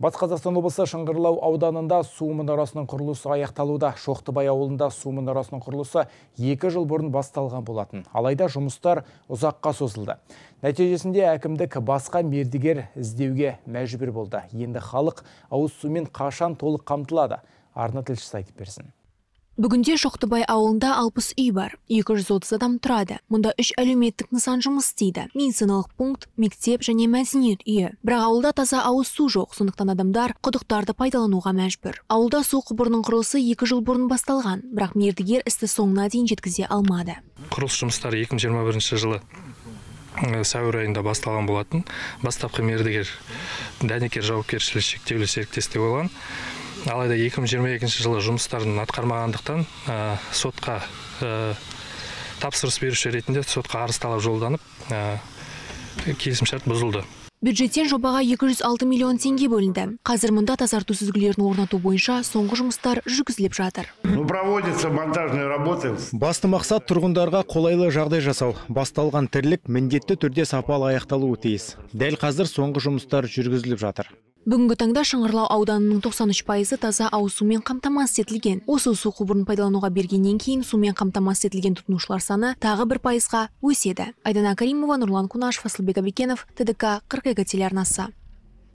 Батыс Қазақстан облысы Шыңғырлау ауданында су мұнарасының құрылысы аяқталуда. Шоқтыбай ауылында су мұнарасының құрылысы 2 жыл бұрын басталған болатын. Алайда жұмыстар ұзаққа созылды. Нәтижесінде әкімдік басқа мердігер іздеуге мәжбүр болды. Енді халық ауыз сумен қашан толық қамтылады? Арна тілшісі айтып берсін. Бүгінде Шоқтыбай ауылында 60 үй бар, 230 адам тұрады. Мұнда 3 әлеуметтік нысан жұмыс істейді. Медициналық пункт, мектеп және мәдениет үйі. Бірақ ауылда таза ауыз су жоқ, сондықтан адамдар құдықтарды пайдалануға мәжбүр. Ауылда су құбырының құрылысы 2 жыл бұрын басталған, бірақ мердігер істі соңына дейін жеткізе алмады. Құрылыс жұмыстары 2021 жылы сәуір айында басталған болатын. Бастапқы мердігер Дәнекер жауапкершілігі шектеулі серіктестік болған. Алайда 2022 жылы жұмыстарын атқармағандықтан сотқа тапсырыс беруші ретінде сотқа арыз талап жолданып, келісімшарт бұзылды. Бюджеттен жобаға 206 миллион теңге бөлінді. Қазір мұнда тазарту сүзгілерін орнату бойынша соңғы жұмыстар жүргізіліп жатыр. Проводятся монтажные работы. Басты мақсат тұрғындарға қолайлы жағдай жасау. Басталған тірлік міндетті түрде сапалы аяқталуы тиіс. Дәл қазір соңғы жұмыстар жүргізіліп жатыр. Бүгінгі таңда Шыңғырлау ауданының 93% таза ауыз сумен қамтамасыз етілген. Осы су құбырын пайдалануға бергеннен кейін сумен қамтамасыз етілген тұтынушылар саны тағы 1%-ға өседі. Айдана Каримова, Нұрлан Кунашев, Асылбек Абекенов, ТДК 42 телеарнасы.